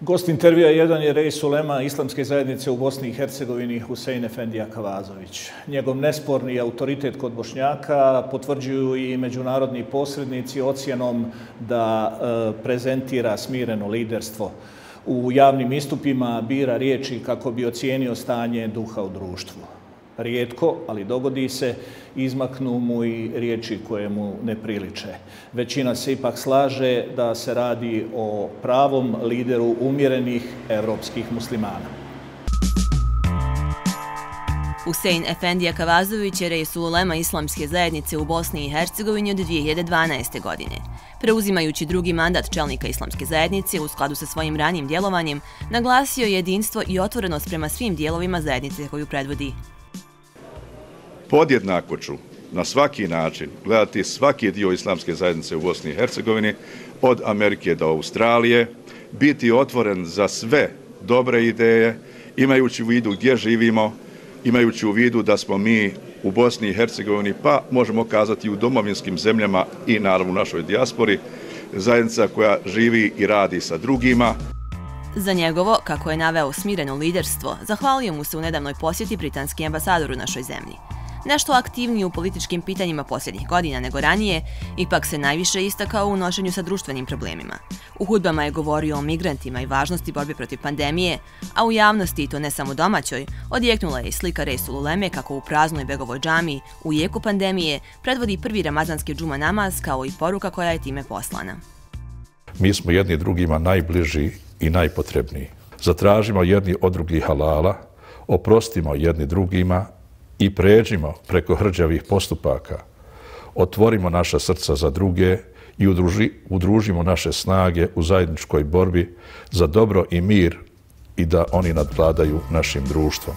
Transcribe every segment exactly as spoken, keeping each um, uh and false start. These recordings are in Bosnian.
Gost intervjua jedan je reis ulema Islamske zajednice u Bosni i Hercegovini Husein Efendija Kavazović. Njegov nesporni autoritet kod Bošnjaka potvrđuju i međunarodni posrednici ocjenom da e, prezentira smireno liderstvo. U javnim istupima bira riječi kako bi ocijenio stanje duha u društvu. Rijetko, ali dogodi se, izmaknu mu i riječi koje mu ne priliče. Većina se ipak slaže da se radi o pravom lideru umjerenih evropskih muslimana. Husein Efendija Kavazović je reis ulema Islamske zajednice u Bosni i Hercegovini od dvije hiljade dvanaeste. godine. Preuzimajući drugi mandat čelnika Islamske zajednice u skladu sa svojim ranijim djelovanjem, naglasio jedinstvo i otvorenost prema svim dijelovima zajednice koju predvodi. Podjednako ću na svaki način gledati svaki dio Islamske zajednice u Bosni i Hercegovini, od Amerike do Australije, biti otvoren za sve dobre ideje, imajući u vidu gdje živimo, imajući u vidu da smo mi u Bosni i Hercegovini, pa možemo kazati u domovinskim zemljama i naravno u našoj dijaspori, zajednica koja živi i radi sa drugima. Za njegovo, kako je naveo, smireno liderstvo, zahvalio mu se u nedavnoj posjeti britanski ambasador u našoj zemlji. Nešto aktivniji u političkim pitanjima posljednjih godina nego ranije, ipak se najviše istakao u nošenju sa društvenim problemima. U hudbama je govorio o migrantima i važnosti borbe protiv pandemije, a u javnosti, i to ne samo domaćoj, odjeknula je i slika Resul Uleme kako u praznoj Begovoj džamiji u jeku pandemije predvodi prvi ramazanski džuma namaz, kao i poruka koja je time poslana. Mi smo jedni drugima najbliži i najpotrebniji. Zatražimo jedni od drugih halala, oprostimo jedni drugima i pređimo preko hrđavih postupaka. Otvorimo naša srca za druge i udruži, udružimo naše snage u zajedničkoj borbi za dobro i mir i da oni nadvladaju našim društvom.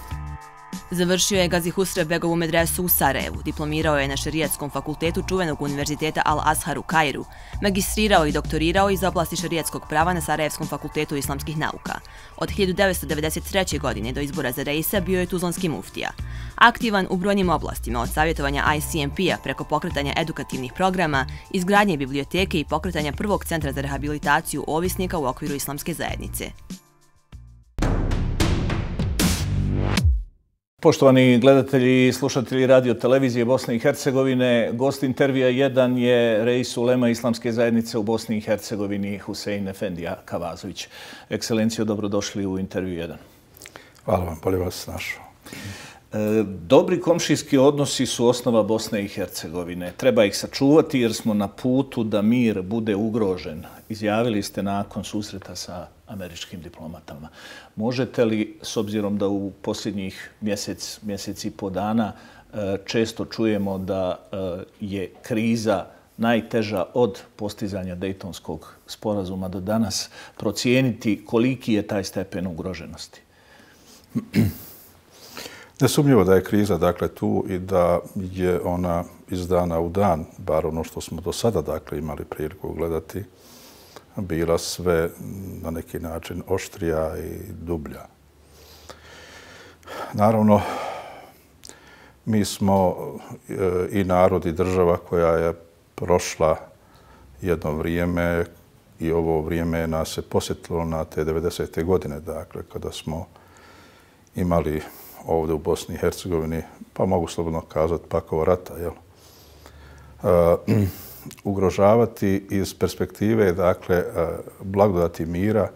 Završio je Gazi Husrev Begovu medresu u Sarajevu, diplomirao je na šerijatskom fakultetu čuvenog univerziteta Al-Azhar u Kairu, magistrirao i doktorirao iz oblasti šerijatskog prava na Sarajevskom fakultetu islamskih nauka. Od hiljadu devetsto devedeset treće. godine do izbora za reisa bio je tuzlanski muftija. Aktivan u brojnim oblastima, od savjetovanja I C M P-a preko pokretanja edukativnih programa, izgradnje biblioteke i pokretanja prvog centra za rehabilitaciju ovisnika u okviru Islamske zajednice. Poštovani gledatelji i slušatelji radio televizije Bosne i Hercegovine, gost intervjua jedan je reis ulema Islamske zajednice u Bosni i Hercegovini Husein Efendija Kavazović. Ekscelencijo, dobrodošli u intervju jedan. Hvala vam, bolje vas našao. Dobri komšijski odnosi su osnova Bosne i Hercegovine. Treba ih sačuvati jer smo na putu da mir bude ugrožen. Izjavili ste nakon susreta sa američkim diplomatama. Možete li, s obzirom da u posljednjih mjesec, mjesec i po dana često čujemo da je kriza najteža od postizanja Dejtonskog sporazuma do danas, procijeniti koliki je taj stepen ugroženosti? Nesumnjivo da je kriza dakle tu i da je ona iz dana u dan, bar ono što smo do sada dakle imali priliku gledati, bila sve na neki način oštrija i dublja. Naravno, mi smo i narod i država koja je prošla jedno vrijeme i ovo vrijeme nas se posjetilo na te devedesete. godine, dakle, kada smo imali ovdje u Bosni i Hercegovini, pa mogu slobodno kazati, pakao rata, jel? Uh, ugrožavati iz perspektive, dakle, blagodati mira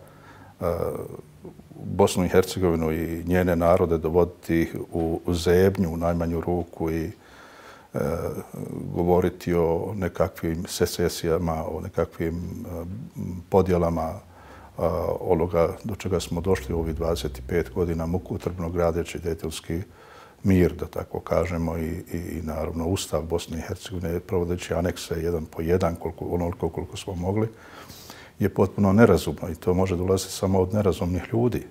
Bosnu i Hercegovinu i njene narode, dovoditi ih u zebnju u najmanju ruku i e, govoriti o nekakvim secesijama, o nekakvim e, podjelama e, onoga do čega smo došli u ovih dvadeset pet godina mukotrpno gradeći Dejtonski mir, da tako kažemo, i, i, i naravno Ustav Bosne i Hercegovine, provodeći anekse jedan po jedan, koliko, onoliko koliko smo mogli, je potpuno nerazumno i to može dolaziti samo od nerazumnih ljudi.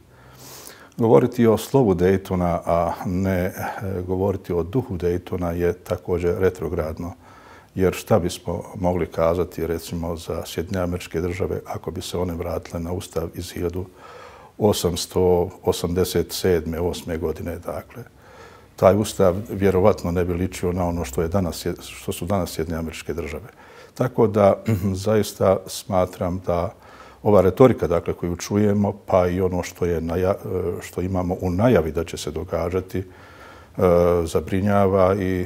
Govoriti o slovu Dejtona, a ne govoriti o duhu Dejtona je također retrogradno. Jer šta bismo mogli kazati recimo za Sjedinjene Američke Države ako bi se one vratile na Ustav iz hiljadu osamsto osamdeset sedme. osme. godine, dakle. Taj Ustav vjerovatno ne bi ličio na ono što, je danas, što su danas Sjedinjene Američke Države. Tako da zaista smatram da ova retorika dakle, koju čujemo, pa i ono što, je naja, što imamo u najavi da će se događati, zabrinjava i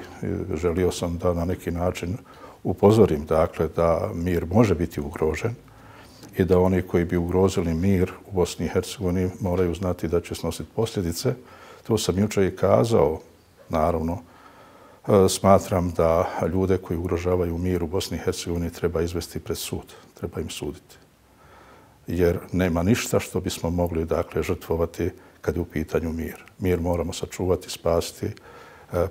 želio sam da na neki način upozorim dakle, da mir može biti ugrožen i da oni koji bi ugrozili mir u Bosni i Hercegovini moraju znati da će snositi posljedice. To sam jučer i kazao, naravno. Smatram da ljude koji ugrožavaju mir u Bosni i Hercegovini treba izvesti pred sud, treba im suditi. Jer nema ništa što bismo mogli dakle, žrtvovati kad je u pitanju mir. Mir moramo sačuvati, spasiti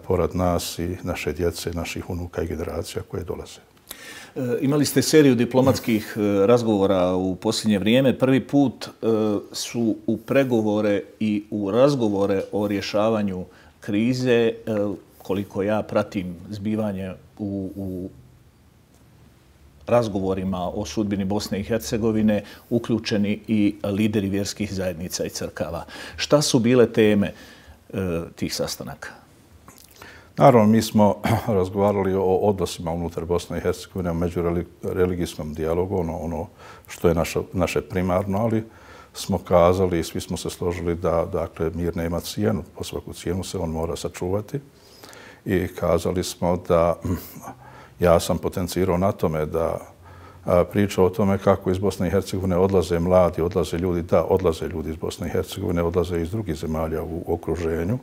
porad nas i naše djece, naših unuka i generacija koje dolaze. Imali ste seriju diplomatskih razgovora u posljednje vrijeme. Prvi put su u pregovore i u razgovore o rješavanju krize, koliko ja pratim zbivanje u, u razgovorima o sudbini Bosne i Hercegovine, uključeni i lideri vjerskih zajednica i crkava. Šta su bile teme e, tih sastanaka? Naravno, mi smo razgovarali o odnosima unutar Bosne i Hercegovine, o međureligijskom dijalogu, ono, ono što je naša, naše primarno, ali smo kazali i svi smo se složili da dakle, mir nema cijenu, po svaku cijenu se on mora sačuvati. I kazali smo da ja sam potencirao na tome da priča o tome kako iz Bosne i Hercegovine odlaze mladi, odlaze ljudi, da, odlaze ljudi iz Bosne i Hercegovine, odlaze iz drugih zemalja u okruženju,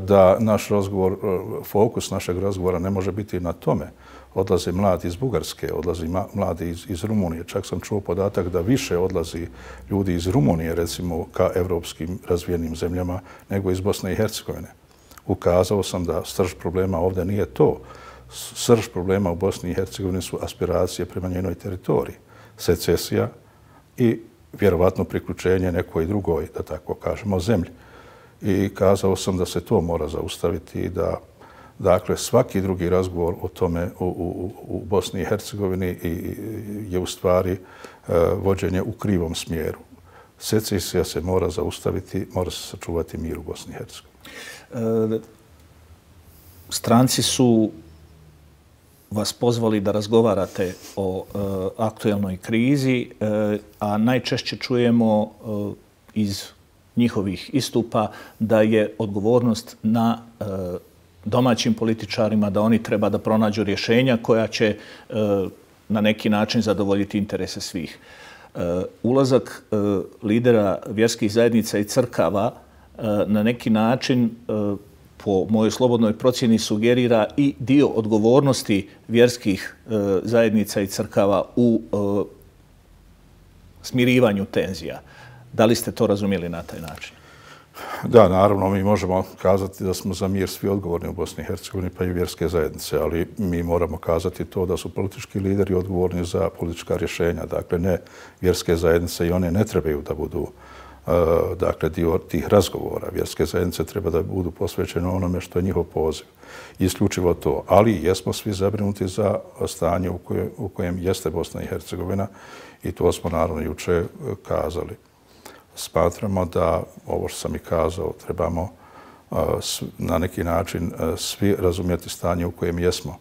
da naš razgovor, fokus našeg razgovora ne može biti na tome. Odlaze mladi iz Bugarske, odlaze mladi iz, iz Rumunije. Čak sam čuo podatak da više odlazi ljudi iz Rumunije, recimo, ka evropskim razvijenim zemljama, nego iz Bosne i Hercegovine. Ukazao sam da srž problema ovdje nije to. Srž problema u Bosni i Hercegovini su aspiracije prema njenoj teritoriji, secesija i vjerovatno priključenje nekoj drugoj, da tako kažemo, zemlji. I kazao sam da se to mora zaustaviti i da dakle, svaki drugi razgovor o tome u, u, u Bosni i Hercegovini je u stvari vođenje u krivom smjeru. Secesija se mora zaustaviti, mora se sačuvati mir u Bosni i Hercegovini. Stranci su vas pozvali da razgovarate o e, aktuelnoj krizi, e, a najčešće čujemo e, iz njihovih istupa da je odgovornost na e, domaćim političarima, da oni treba da pronađu rješenja koja će e, na neki način zadovoljiti interese svih. E, ulazak e, lidera vjerskih zajednica i crkava e, na neki način e, po mojoj slobodnoj procjeni sugerira i dio odgovornosti vjerskih e, zajednica i crkava u e, smirivanju tenzija. Da li ste to razumjeli na taj način? Da, naravno, mi možemo kazati da smo za mir svi odgovorni u Bosni i Hercegovini, pa i vjerske zajednice, ali mi moramo kazati to da su politički lideri odgovorni za politička rješenja. Dakle, ne vjerske zajednice i one ne trebaju da budu dakle, dio tih razgovora. Vjerske zajednice treba da budu posvećene onome što je njihov poziv. Isključivo to. Ali jesmo svi zabrinuti za stanje u kojem, u kojem jeste Bosna i Hercegovina i to smo naravno juče kazali. Smatramo da, ovo što sam i kazao, trebamo na neki način svi razumjeti stanje u kojem jesmo.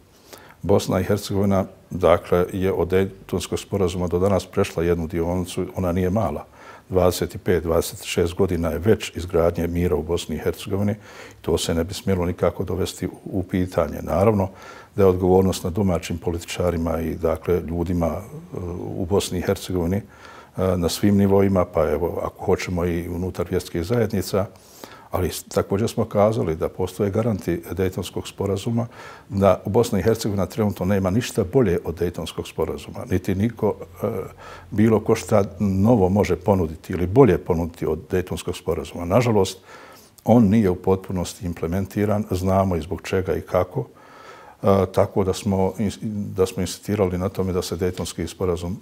Bosna i Hercegovina, dakle, je od Dejtonskog sporazuma do danas prešla jednu dionicu, ona nije mala. dvadeset pet do dvadeset šest godina je već izgradnje mira u Bosni i Hercegovini. To se ne bi smjelo nikako dovesti u pitanje. Naravno da je odgovornost na domaćim političarima i dakle, ljudima u Bosni i Hercegovini na svim nivoima, pa evo, ako hoćemo i unutar vjerskih zajednica, ali također smo kazali da postoje garanti Dejtonskog sporazuma, da Bosna i Hercegovina trenutno nema ništa bolje od Dejtonskog sporazuma, niti niko, bilo ko šta novo može ponuditi ili bolje ponuditi od Dejtonskog sporazuma. Nažalost, on nije u potpunosti implementiran, znamo i zbog čega i kako, tako da smo, da smo insistirali na tome da se Dejtonski sporazum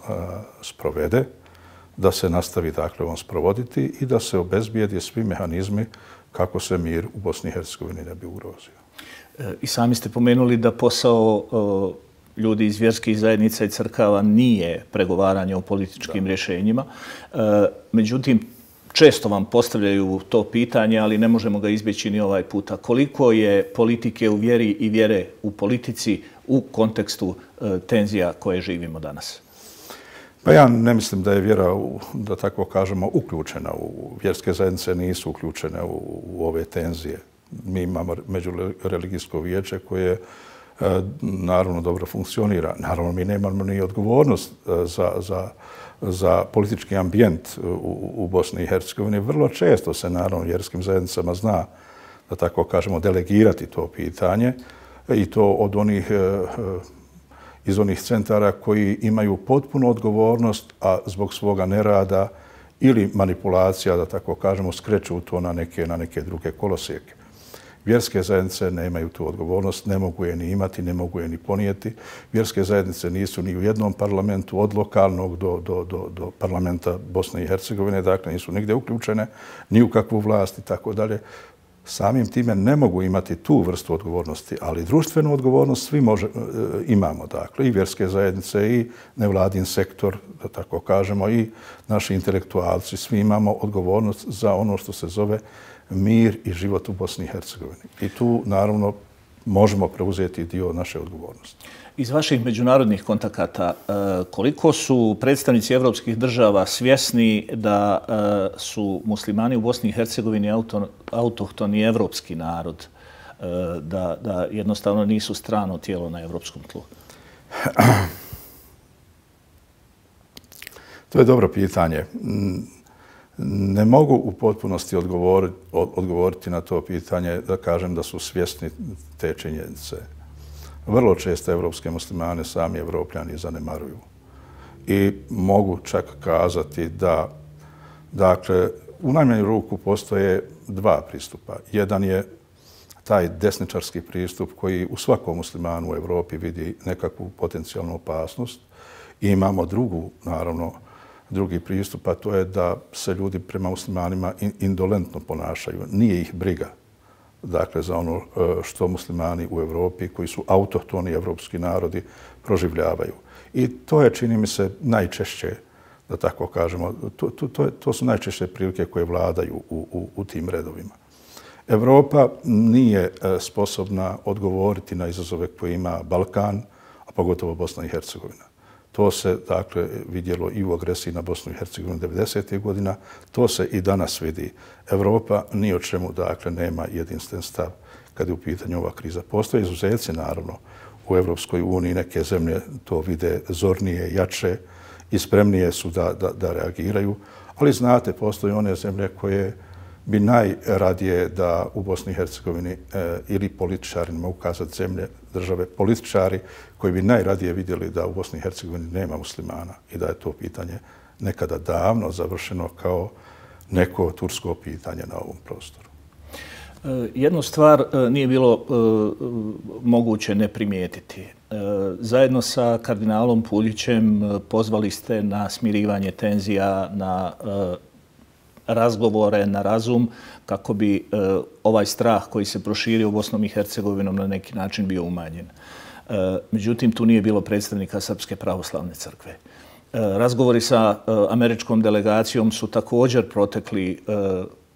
sprovede, da se nastavi dakle on sprovoditi i da se obezbijedi svi mehanizmi kako se mir u Bosni i Hercegovini ne bi ugrozio. I sami ste pomenuli da posao ljudi iz vjerskih zajednica i crkava nije pregovaranje o političkim da. rješenjima. Međutim, često vam postavljaju to pitanje, ali ne možemo ga izbjeći ni ovaj puta. Koliko je politike u vjeri i vjere u politici u kontekstu tenzija koje živimo danas? Pa ja ne mislim da je vjera, da tako kažemo, uključena. U vjerske zajednice nisu uključene u, u ove tenzije. Mi imamo međureligijsko vijeće koje naravno dobro funkcionira. Naravno, mi nemamo ni odgovornost za, za, za politički ambijent u, u Bosni i Hercegovini. Vrlo često se naravno vjerskim zajednicama zna, da tako kažemo, delegirati to pitanje i to od onih iz onih centara koji imaju potpunu odgovornost, a zbog svoga nerada ili manipulacija, da tako kažemo, skreću to na neke, na neke druge kolosijeke. Vjerske zajednice nemaju tu odgovornost, ne mogu je ni imati, ne mogu je ni ponijeti. Vjerske zajednice nisu ni u jednom parlamentu, od lokalnog do, do, do, do parlamenta Bosne i Hercegovine, dakle nisu nigdje uključene, ni u kakvu vlast i tako dalje. Samim time ne mogu imati tu vrstu odgovornosti, ali društvenu odgovornost svi može, imamo. Dakle, i vjerske zajednice, i nevladin sektor, da tako kažemo, i naši intelektualci, svi imamo odgovornost za ono što se zove mir i život u Bosni i Hercegovini. I tu, naravno, možemo preuzeti dio naše odgovornosti. Iz vaših međunarodnih kontakata, koliko su predstavnici evropskih država svjesni da su muslimani u Bosni i Hercegovini auto, autohtoni evropski narod, da, da jednostavno nisu strano tijelo na evropskom tlu? To je dobro pitanje. Ne mogu u potpunosti odgovoriti, odgovoriti na to pitanje da kažem da su svjesni te činjenice. Vrlo često evropske muslimane sami evropljani zanemaruju. I mogu čak kazati da, dakle, u najmanju ruku postoje dva pristupa. Jedan je taj desničarski pristup koji u svakom muslimanu u Evropi vidi nekakvu potencijalnu opasnost. I imamo drugu, naravno, drugi pristup, a to je da se ljudi prema muslimanima indolentno ponašaju. Nije ih briga, dakle, za ono što muslimani u Evropi, koji su autohtoni evropski narodi, proživljavaju. I to je, čini mi se, najčešće, da tako kažemo, to, to, to, to su najčešće prilike koje vladaju u, u, u tim redovima. Evropa nije sposobna odgovoriti na izazove koje ima Balkan, a pogotovo Bosna i Hercegovina. To se, dakle, vidjelo i u agresiji na Bosnu i Hercegovinu devedesetih godina. To se i danas vidi. Evropa ni o čemu, dakle, nema jedinstven stav kad je u pitanju ova kriza. Postoje izuzeci, naravno, u Evropskoj uniji. Neke zemlje to vide zornije, jače i spremnije su da, da, da reagiraju. Ali znate, postoje one zemlje koje bi najradije da u Bosni i Hercegovini e, ili političari, ne mogu kazati zemlje, države, političari koji bi najradije vidjeli da u Bosni i Hercegovini nema muslimana i da je to pitanje nekada davno završeno kao neko tursko pitanje na ovom prostoru. Jednu stvar nije bilo moguće ne primijetiti. Zajedno sa kardinalom Puljićem pozvali ste na smirivanje tenzija, na razgovore, na razum, kako bi ovaj strah koji se proširio u Bosnom i Hercegovinom na neki način bio umanjen. Međutim, tu nije bilo predstavnika Srpske pravoslavne crkve. Razgovori sa američkom delegacijom su također protekli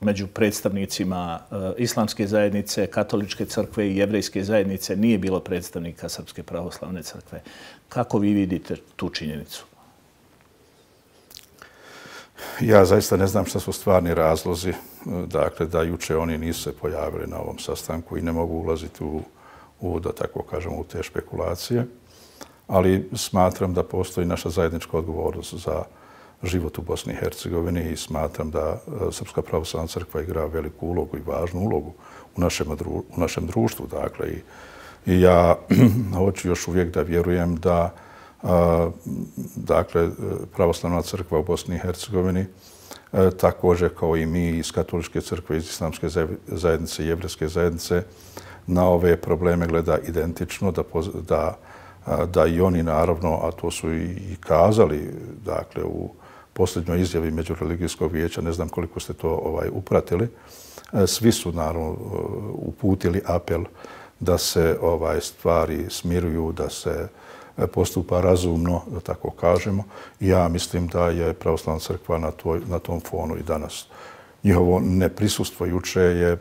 među predstavnicima Islamske zajednice, Katoličke crkve i Jevrejske zajednice. Nije bilo predstavnika Srpske pravoslavne crkve. Kako vi vidite tu činjenicu? Ja zaista ne znam šta su stvarni razlozi, dakle, da juče oni nisu se pojavili na ovom sastanku i ne mogu ulaziti u, u da tako kažemo, u te špekulacije, ali smatram da postoji naša zajednička odgovornost za život u Bosni i Hercegovini i smatram da Srpska pravoslavna crkva igra veliku ulogu i važnu ulogu u našem, u našem društvu. Dakle, i, i ja hoću još uvijek da vjerujem da dakle, pravoslavna crkva u Bosni i Hercegovini, također kao i mi iz Katoličke crkve, iz Islamske zajednice i Jevrejske zajednice, na ove probleme gleda identično, da, da, da i oni naravno, a to su i kazali, dakle, u posljednjoj izjavi Međureligijskog vijeća, ne znam koliko ste to ovaj, upratili, svi su naravno uputili apel da se ovaj, stvari smiruju, da se postupa razumno, da tako kažemo. I ja mislim da je pravoslavna crkva na, toj, na tom fonu i danas. Njihovo neprisustvo juče je,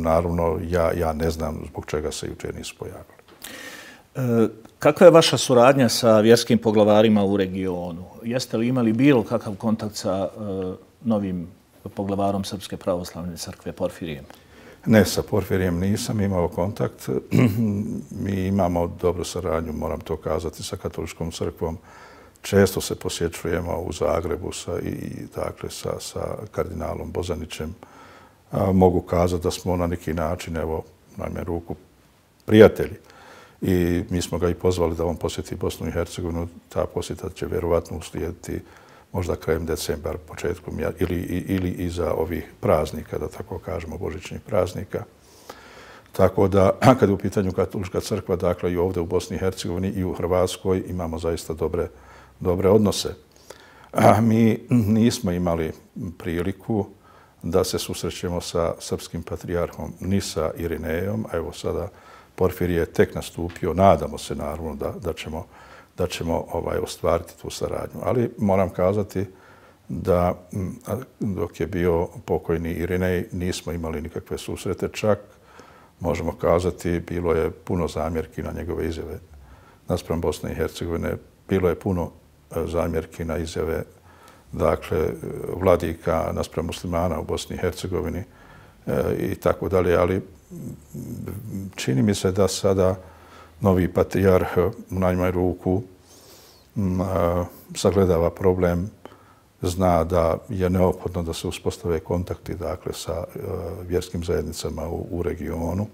naravno, ja, ja ne znam zbog čega se juče nisu pojavili. Kakva je vaša suradnja sa vjerskim poglavarima u regionu? Jeste li imali bilo kakav kontakt sa novim poglavarom Srpske pravoslavne crkve Porfirijem? Ne, sa Porfirijem nisam imao kontakt. Mi imamo dobru saradnju, moram to kazati, sa katoličkom crkvom. Često se posjećujemo u Zagrebu sa, i, dakle, sa, sa kardinalom Bozanićem. A, mogu kazati da smo na neki način, evo, najme ruku, prijatelji. I mi smo ga i pozvali da on posjeti Bosnu i Hercegovinu. Ta posjeta će vjerovatno uslijediti možda krajem decembra, početkom ili, ili iza ovih praznika, da tako kažemo, božićnih praznika. Tako da, kad je u pitanju katolička crkva, dakle i ovdje u Bosni i Hercegovini i u Hrvatskoj imamo zaista dobre, dobre odnose. A mi nismo imali priliku da se susrećemo sa srpskim patrijarhom ni sa Irinejom, a evo sada Porfirije je tek nastupio, nadamo se naravno da, da ćemo, da ćemo ovaj, ostvariti tu saradnju. Ali moram kazati da dok je bio pokojni Irinej nismo imali nikakve susrete, čak možemo kazati bilo je puno zamjerki na njegove izjave naspram Bosne i Hercegovine, bilo je puno zamjerki na izjave dakle vladika naspram muslimana u Bosni i Hercegovini e, i tako dalje, ali čini mi se da sada novi patrijarh u najmanju ruku m, a, sagledava problem, zna da je neophodno da se uspostave kontakti dakle, sa a, vjerskim zajednicama u, u regionu.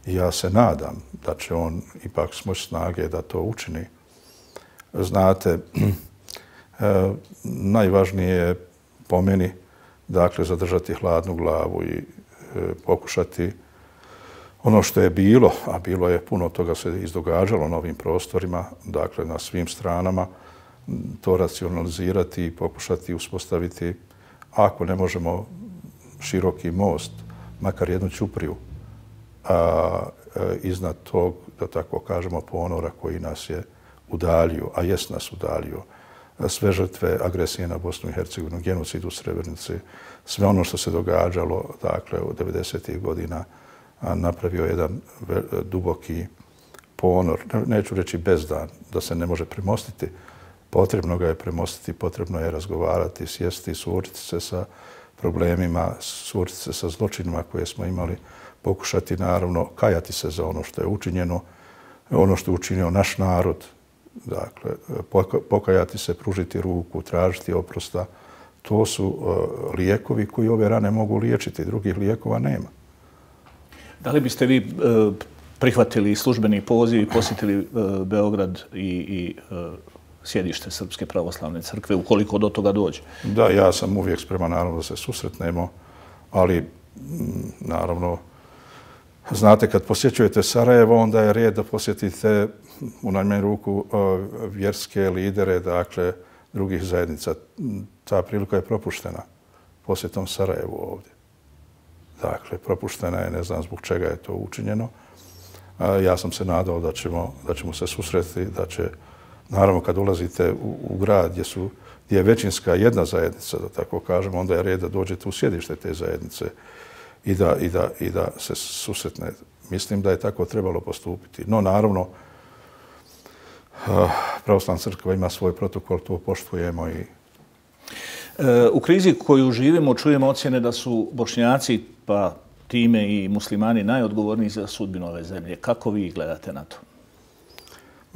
I ja se nadam da će on ipak smoći snage da to učini. Znate, a, najvažnije je po meni dakle, zadržati hladnu glavu i a, pokušati ono što je bilo, a bilo je puno toga se izdogađalo na ovim prostorima, dakle na svim stranama, to racionalizirati i pokušati uspostaviti, ako ne možemo široki most, makar jednu ćupriju, a, a, iznad tog, da tako kažemo, ponora koji nas je udaljio, a jest nas udaljio, sve žrtve agresije na Bosnu i Hercegovinu, genocid u Srebrenici, sve ono što se događalo dakle, u devedesetih godina, napravio jedan duboki ponor, neću reći bezdan, da se ne može premostiti. Potrebno ga je premostiti, potrebno je razgovarati, sjesti, suočiti se sa problemima, suočiti se sa zločinima koje smo imali, pokušati naravno kajati se za ono što je učinjeno, ono što je učinio naš narod, dakle, pokajati se, pružiti ruku, tražiti oprosta. To su uh, lijekovi koji ove rane mogu liječiti, drugih lijekova nema. Da li biste vi e, prihvatili službeni poziv i posjetili e, Beograd i, i e, sjedište Srpske pravoslavne crkve, ukoliko do toga dođe? Da, ja sam uvijek spreman naravno da se susretnemo, ali m, naravno, znate, kad posjećujete Sarajevo, onda je red da posjetite u najmanju ruku e, vjerske lidere, dakle, drugih zajednica. Ta prilika je propuštena posjetom Sarajevu ovdje. Dakle, propuštena je, ne znam zbog čega je to učinjeno. Ja sam se nadao da ćemo, da ćemo se susreti, da će, naravno, kad ulazite u, u grad gdje, su, gdje je većinska jedna zajednica, da tako kažemo, onda je red da dođete u sjedište te zajednice i da, i da, i da se susretne. Mislim da je tako trebalo postupiti. No, naravno, Pravoslavna crkva ima svoj protokol, to poštujemo i u krizi koju živimo čujemo ocjene da su Bošnjaci, pa time i muslimani, najodgovorniji za sudbinu ove zemlje. Kako vi gledate na to?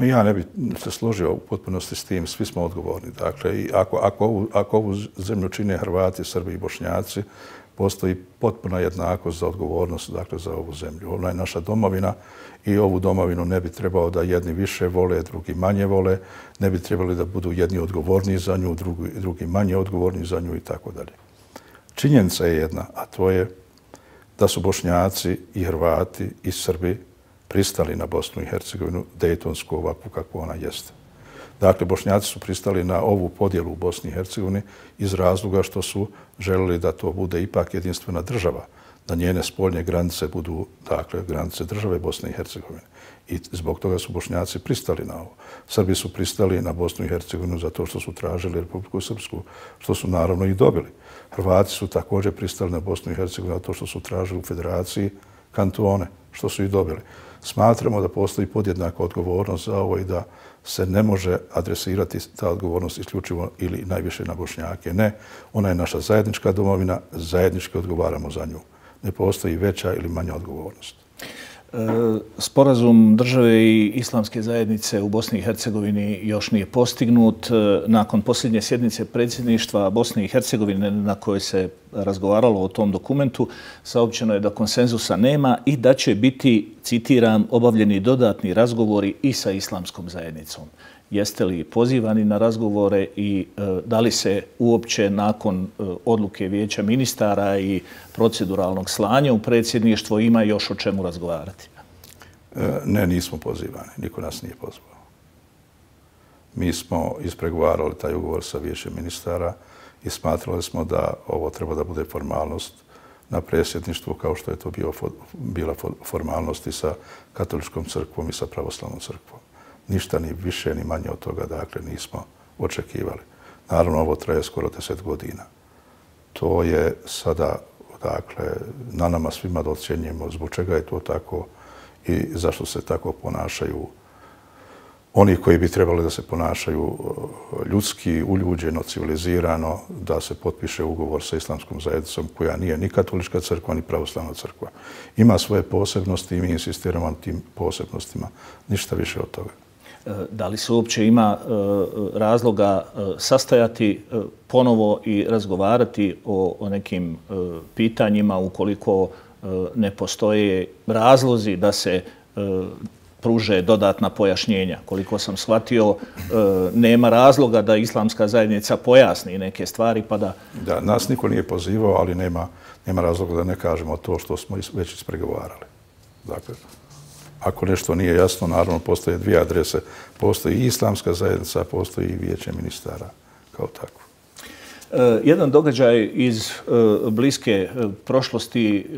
Ja ne bih se složio u potpunosti s tim. Svi smo odgovorni. Dakle, i ako, ako, ovu, ako ovu zemlju čine Hrvati, Srbi i Bošnjaci, postoji potpuna jednakost za odgovornost dakle, za ovu zemlju. Ona je naša domovina i ovu domovinu ne bi trebao da jedni više vole, drugi manje vole, ne bi trebali da budu jedni odgovorni za nju, drugi, drugi manje odgovorni za nju i tako dalje. Činjenica je jedna, a to je da su Bošnjaci i Hrvati i Srbi pristali na Bosnu i Hercegovinu dejtonsku ovakvu kakvu ona jeste. Dakle, Bošnjaci su pristali na ovu podjelu u Bosni i Hercegovini iz razloga što su želeli da to bude ipak jedinstvena država, da njene spoljne granice budu, dakle, granice države Bosne i Hercegovine. I zbog toga su Bošnjaci pristali na ovo. Srbi su pristali na Bosnu i Hercegovinu zato što su tražili Republiku Srpsku, što su naravno i dobili. Hrvati su također pristali na Bosnu i Hercegovinu zato što su tražili u federaciji kantone, što su i dobili. Smatramo da postoji podjednaka odgovornost za ovo i da se ne može adresirati ta odgovornost isključivo ili najviše na Bošnjake. Ne, ona je naša zajednička domovina, zajednički odgovaramo za nju. Ne postoji veća ili manja odgovornost. Sporazum države i islamske zajednice u Bosni i Hercegovini još nije postignut. Nakon posljednje sjednice predsjedništva Bosne i Hercegovine na kojoj se razgovaralo o tom dokumentu, saopćeno je da konsenzusa nema i da će biti, citiram, obavljeni dodatni razgovori i sa islamskom zajednicom. Jeste li pozivani na razgovore i da li se uopće nakon odluke Vijeća ministara i proceduralnog slanja u predsjedništvo ima još o čemu razgovarati? Ne, nismo pozivani. Niko nas nije pozvao. Mi smo ispregovarali taj ugovor sa Vijećem ministara i smatrali smo da ovo treba da bude formalnost na predsjedništvu kao što je to bio, bila formalnost i sa katoličkom crkvom i sa pravoslavnom crkvom. Ništa ni više ni manje od toga, dakle, nismo očekivali. Naravno, ovo traje skoro deset godina. To je sada, dakle, na nama svima da ocjenjujemo zbog čega je to tako i zašto se tako ponašaju oni koji bi trebali da se ponašaju ljudski, uljuđeno, civilizirano, da se potpiše ugovor sa islamskom zajednicom koja nije ni katolička crkva, ni pravoslavna crkva. Ima svoje posebnosti i mi insistiramo na tim posebnostima. Ništa više od toga. Da li se uopće ima razloga sastajati ponovo i razgovarati o, o nekim pitanjima ukoliko ne postoje razlozi da se pruže dodatna pojašnjenja? Koliko sam shvatio, nema razloga da islamska zajednica pojasni neke stvari pa da... Da, nas niko nije pozivao, ali nema, nema razloga da ne kažemo to što smo već ispregovarali. Dakle, ako nešto nije jasno, naravno postoje dvije adrese. Postoji i islamska zajednica, postoji i Vijeće ministara kao takvo. Jedan događaj iz bliske prošlosti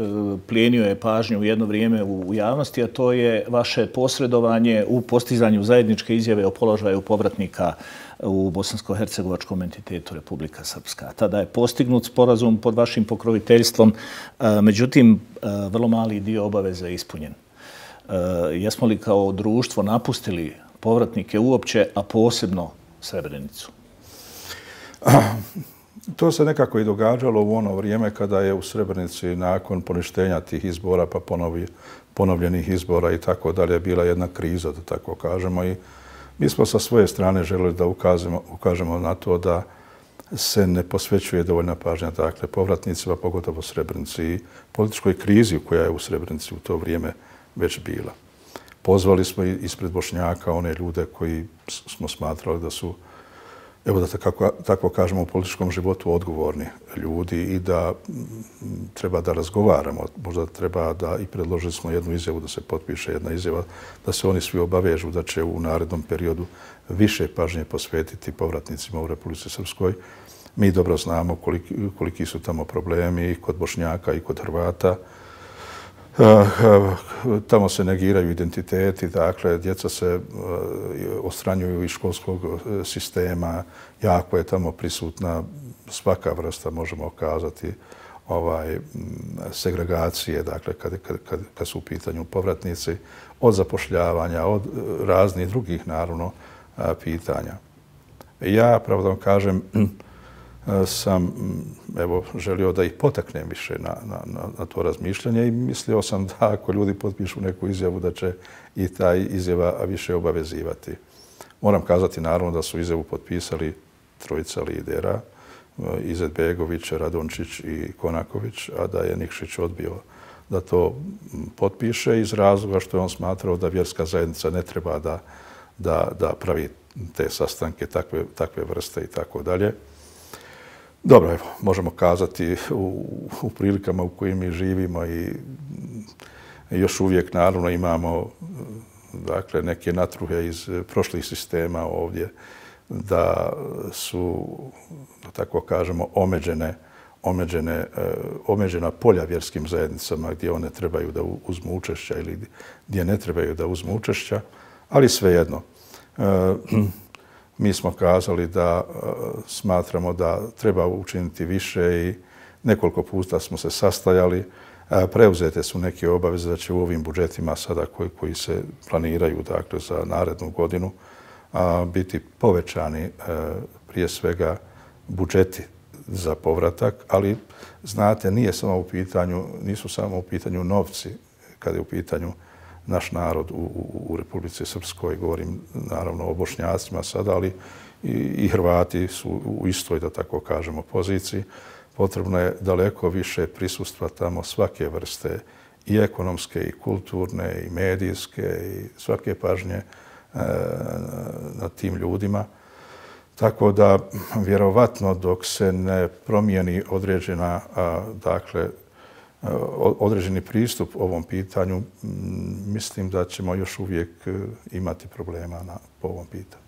plijenio je pažnju u jedno vrijeme u javnosti, a to je vaše posredovanje u postizanju zajedničke izjave o položaju povratnika u bosansko-hercegovačkom entitetu Republika Srpska. Tada je postignut sporazum pod vašim pokroviteljstvom, međutim, vrlo mali dio obaveza je ispunjen. Jesmo li kao društvo napustili povratnike uopće, a posebno Srebrenicu? To se nekako i događalo u ono vrijeme kada je u Srebrenici nakon poništenja tih izbora pa ponovi, ponovljenih izbora i tako dalje bila jedna kriza, da tako kažemo. I mi smo sa svoje strane želeli da ukažemo, ukažemo na to da se ne posvećuje dovoljna pažnja dakle, povratnicima, pogotovo Srebrenici i političkoj krizi koja je u Srebrenici u to vrijeme već bila. Pozvali smo ispred Bošnjaka one ljude koji smo smatrali da su, evo da tako, tako kažemo, u političkom životu odgovorni ljudi i da treba da razgovaramo. Možda treba da i predložili smo jednu izjavu da se potpiše jedna izjava, da se oni svi obavežu da će u narednom periodu više pažnje posvetiti povratnicima u Republici Srpskoj. Mi dobro znamo koliki, koliki su tamo problemi i kod Bošnjaka i kod Hrvata. Tamo se negiraju identiteti, dakle, djeca se odstranjuju iz školskog sistema, jako je tamo prisutna svaka vrsta, možemo kazati, ovaj, segregacije, dakle, kad, kad, kad, kad su u pitanju povratnici, od zapošljavanja, od raznih drugih, naravno, pitanja. Ja, pravo da vam kažem, sam evo, želio da ih potaknem više na, na, na to razmišljanje i mislio sam da ako ljudi potpišu neku izjavu da će i taj izjava više obavezivati. Moram kazati naravno da su izjavu potpisali trojica lidera, Izetbegović, Radončić i Konaković, a da je Nikšić odbio da to potpiše iz razloga što je on smatrao da vjerska zajednica ne treba da, da, da pravi te sastanke takve, takve vrste i tako dalje. Dobro, evo, možemo kazati u, u prilikama u kojim mi živimo i još uvijek naravno imamo dakle, neke natruhe iz prošlih sistema ovdje da su, da tako kažemo, omeđene, omeđene, omeđena polja vjerskim zajednicama gdje one trebaju da uzmu učešća ili gdje ne trebaju da uzmu učešća, ali svejedno. Mi smo kazali da smatramo da treba učiniti više i nekoliko puta smo se sastajali. Preuzete su neke obaveze da će u ovim budžetima sada koji, koji se planiraju dakle, za narednu godinu biti povećani prije svega budžeti za povratak, ali znate, nije samo u pitanju, nisu samo u pitanju novci kada je u pitanju naš narod u, u, u Republici Srpskoj, govorim naravno o Bošnjacima sada, ali i, i Hrvati su u istoj, da tako kažemo, poziciji. Potrebno je daleko više prisustva tamo svake vrste, i ekonomske, i kulturne, i medijske, i svake pažnje e, nad tim ljudima. Tako da, vjerovatno, dok se ne promijeni određena, a, dakle, određeni pristup ovom pitanju, mislim da ćemo još uvijek imati problema na, po ovom pitanju.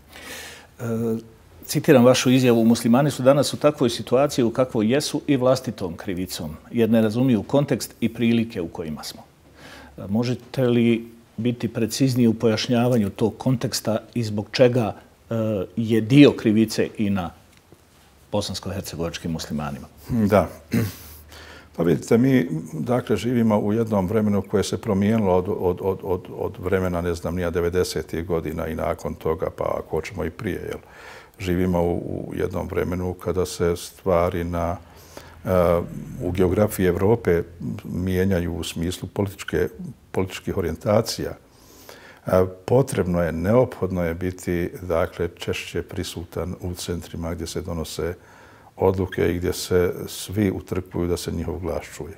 E, citiram vašu izjavu, muslimani su danas u takvoj situaciji u kakvoj jesu i vlastitom krivicom, jer ne razumiju kontekst i prilike u kojima smo. E, možete li biti precizniji u pojašnjavanju tog konteksta i zbog čega e, je dio krivice i na bosansko-hercegovačkim muslimanima? Da. Pa vidite, mi dakle živimo u jednom vremenu koje se promijenilo od, od, od, od, od vremena, ne znam, nija devedesetih godina i nakon toga, pa ako hoćemo i prije. Jel? Živimo u, u jednom vremenu kada se stvari na, uh, u geografiji Evrope mijenjaju u smislu političke, političkih orijentacija. Uh, potrebno je, neophodno je biti dakle, češće prisutan u centrima gdje se donose odluke i gdje se svi utrkuju da se njihov glas čuje.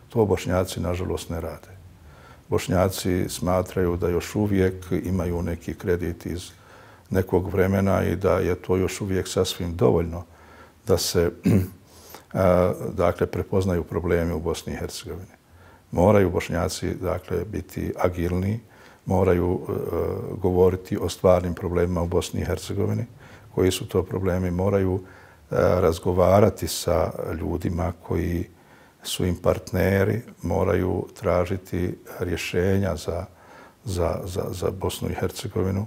To Bošnjaci, nažalost, ne rade. Bošnjaci smatraju da još uvijek imaju neki kredit iz nekog vremena i da je to još uvijek sasvim dovoljno da se dakle, prepoznaju problemi u Bosni i Hercegovini. Moraju Bošnjaci dakle, biti agilni, moraju uh, govoriti o stvarnim problemima u Bosni i Hercegovini. Koji su to problemi? Moraju razgovarati sa ljudima koji su im partneri, moraju tražiti rješenja za, za, za, za Bosnu i Hercegovinu.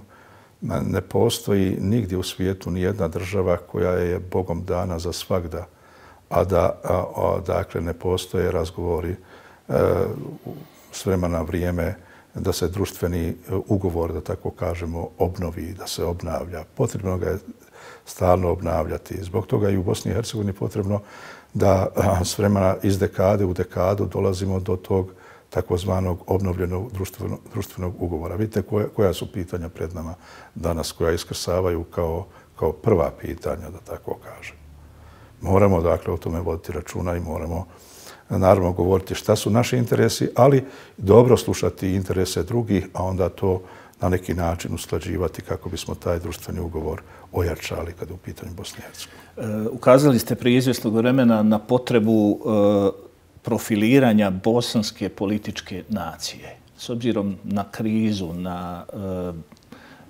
Ne postoji nigdje u svijetu ni jedna država koja je Bogom dana za svagda, a da a, a, dakle, ne postoje razgovori e, s vremena vrijeme da se društveni ugovor, da tako kažemo, obnovi, da se obnavlja. Potrebno ga je stalno obnavljati. Zbog toga i u Bosni i Hercegovini potrebno da s vremena iz dekade u dekadu dolazimo do tog takozvanog obnovljenog društvenog, društvenog ugovora. Vidite koja, koja su pitanja pred nama danas, koja iskrsavaju kao, kao prva pitanja, da tako kažem. Moramo dakle o tome voditi računa i moramo naravno govoriti šta su naši interesi, ali dobro slušati interese drugih, a onda to na neki način usklađivati kako bismo taj društveni ugovor ojačali kada je u pitanju Bosne i Hercegovine. E, ukazali ste prije izvjesnog vremena na potrebu e, profiliranja bosanske političke nacije. S obzirom na krizu, na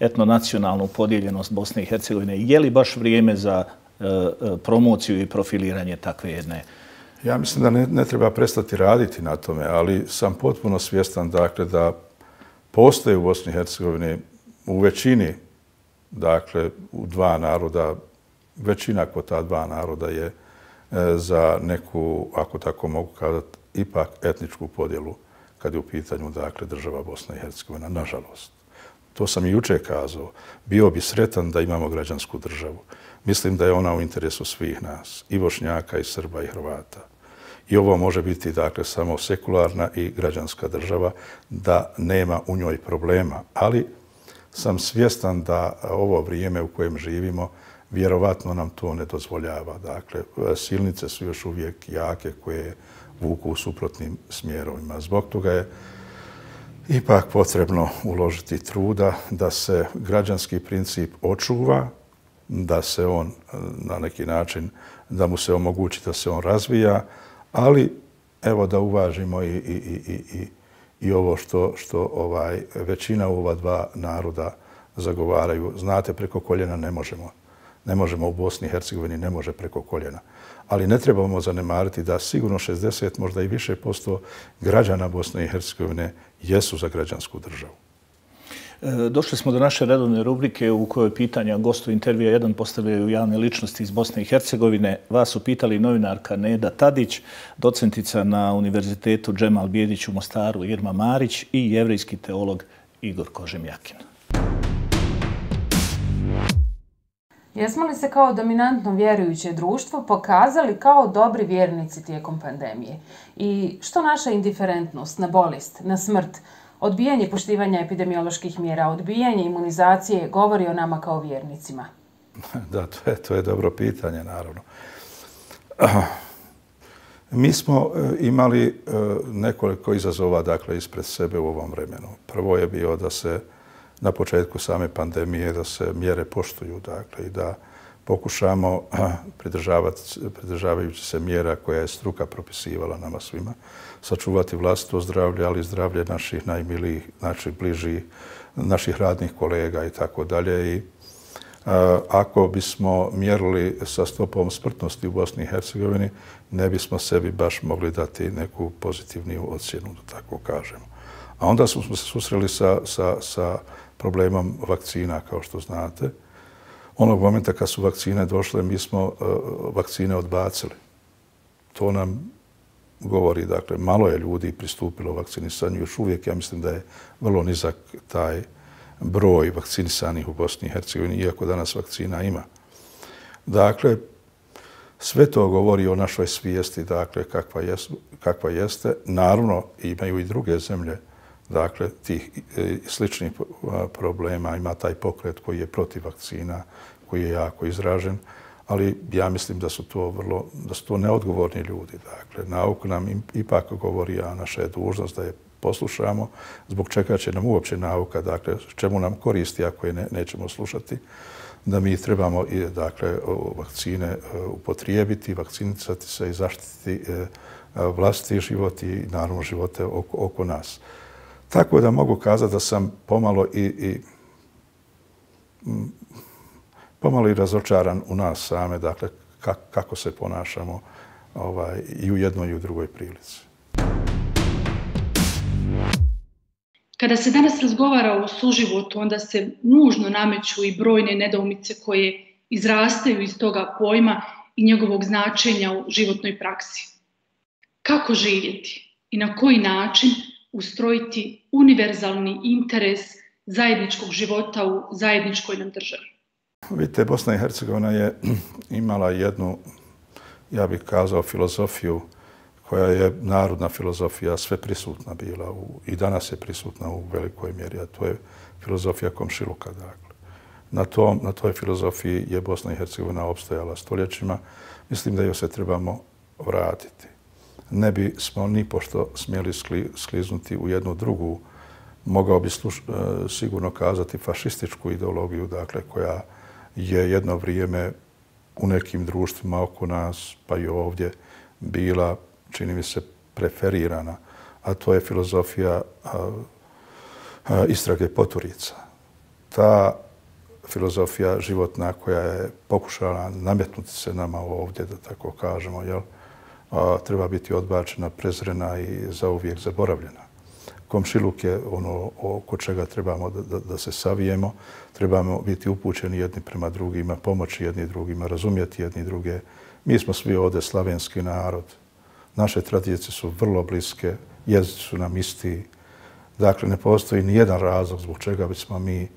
e, etnonacionalnu podijeljenost Bosne i Hercegovine, je li baš vrijeme za e, promociju i profiliranje takve jedne? Ja mislim da ne, ne treba prestati raditi na tome, ali sam potpuno svjestan dakle, da postoje u Bosni i Hercegovini u većini, dakle u dva naroda, većina kod ta dva naroda je e, za neku, ako tako mogu kazati, ipak etničku podjelu kad je u pitanju dakle, država Bosna i Hercegovina, nažalost. To sam i juče kazao. Bio bi sretan da imamo građansku državu. Mislim da je ona u interesu svih nas, i Bošnjaka, i Srba, i Hrvata. I ovo može biti dakle samo sekularna i građanska država, da nema u njoj problema. Ali sam svjestan da ovo vrijeme u kojem živimo vjerovatno nam to ne dozvoljava. Dakle, silnice su još uvijek jake koje vuku u suprotnim smjerovima. Zbog toga je ipak potrebno uložiti truda da se građanski princip očuva, da se on na neki način, da mu se omogući da se on razvija, ali evo da uvažimo i, i, i, i, i ovo što, što ovaj, većina u ova dva naroda zagovaraju. Znate, preko koljena ne možemo. Ne možemo u Bosni i Hercegovini, ne može preko koljena. Ali ne trebamo zanemariti da sigurno šezdeset, možda i više posto građana Bosne i Hercegovine jesu za građansku državu. Došli smo do naše redovne rubrike u kojoj pitanja gostu intervjua jedan postavljaju javne ličnosti iz Bosne i Hercegovine. Vas su pitali novinarka Neda Tadić, docentica na Univerzitetu Džemal Bijedić u Mostaru Irma Marić i jevrejski teolog Igor Kožemjakin. Jesmo li se kao dominantno vjerujuće društvo pokazali kao dobri vjernici tijekom pandemije? I što naša indiferentnost na bolest, na smrt, odbijanje poštivanja epidemioloških mjera, odbijanje imunizacije govori o nama kao vjernicima? Da, to je, to je dobro pitanje, naravno. Mi smo imali nekoliko izazova, dakle, ispred sebe u ovom vremenu. Prvo je bio da se na početku same pandemije da se mjere poštuju, dakle, i da pokušamo pridržavajući se mjera koja je struka propisivala nama svima, sačuvati vlastito zdravlje, ali i zdravlje naših najmilijih, naših bližih, naših radnih kolega i tako dalje. I ako bismo mjerili sa stopom smrtnosti u Bosni i Hercegovini, ne bismo sebi baš mogli dati neku pozitivniju ocjenu, da tako kažemo. A onda smo se susreli sa, sa, sa problemom vakcina, kao što znate. Onog momenta kad su vakcine došle, mi smo uh, vakcine odbacili. To nam govori, dakle, malo je ljudi pristupilo vakcinisanju. Još uvijek, ja mislim da je vrlo nizak taj broj vakcinisanih u Bosni i Hercegovini, iako danas vakcina ima. Dakle, sve to govori o našoj svijesti, dakle, kakva, jes, kakva jeste. Naravno, imaju i druge zemlje, dakle, tih sličnih problema. Ima taj pokret koji je protiv vakcina, koji je jako izražen, ali ja mislim da su to vrlo, da su to neodgovorni ljudi. Dakle, nauka nam ipak govori, a naša je dužnost da je poslušamo, zbog čega će nam uopće nauka, dakle, čemu nam koristi ako je ne, nećemo slušati, da mi trebamo i, dakle, vakcine upotrijebiti, vakcinisati se i zaštititi vlastiti život i naravno živote oko, oko nas. Tako da mogu kazati da sam pomalo i, i pomalo i razočaran u nas same, dakle, kako se ponašamo ovaj, i u jednoj i u drugoj prilici. Kada se danas razgovara o suživotu, onda se nužno nameću i brojne nedoumice koje izrastaju iz toga pojma i njegovog značenja u životnoj praksi. Kako živjeti i na koji način ustrojiti univerzalni interes zajedničkog života u zajedničkoj nam državi? Vidite, Bosna i Hercegovina je imala jednu, ja bih kazao, filozofiju koja je narodna filozofija, sve prisutna bila u, i danas je prisutna u velikoj mjeri, a to je filozofija komšiluka. Dakle. Na, tom, na toj filozofiji je Bosna i Hercegovina opstojala stoljećima. Mislim da joj se trebamo vratiti. Ne bi smo ni pošto smjeli skli, skliznuti u jednu drugu, mogao bi sluš, sigurno kazati fašističku ideologiju, dakle, koja je jedno vrijeme u nekim društvima oko nas, pa i ovdje, bila, čini mi se, preferirana, a to je filozofija a, a, istrage poturica. Ta filozofija životna koja je pokušala nametnuti se nama ovdje, da tako kažemo, jel, a, treba biti odbačena, prezrena i zauvijek zaboravljena. Komšiluk je ono oko čega trebamo da, da, da se savijemo, trebamo biti upućeni jedni prema drugima, pomoći jedni drugima, razumjeti jedni druge. Mi smo svi ovdje slavenski narod. Naše tradicije su vrlo bliske, jezici su nam isti. Dakle, ne postoji ni jedan razlog zbog čega bismo mi,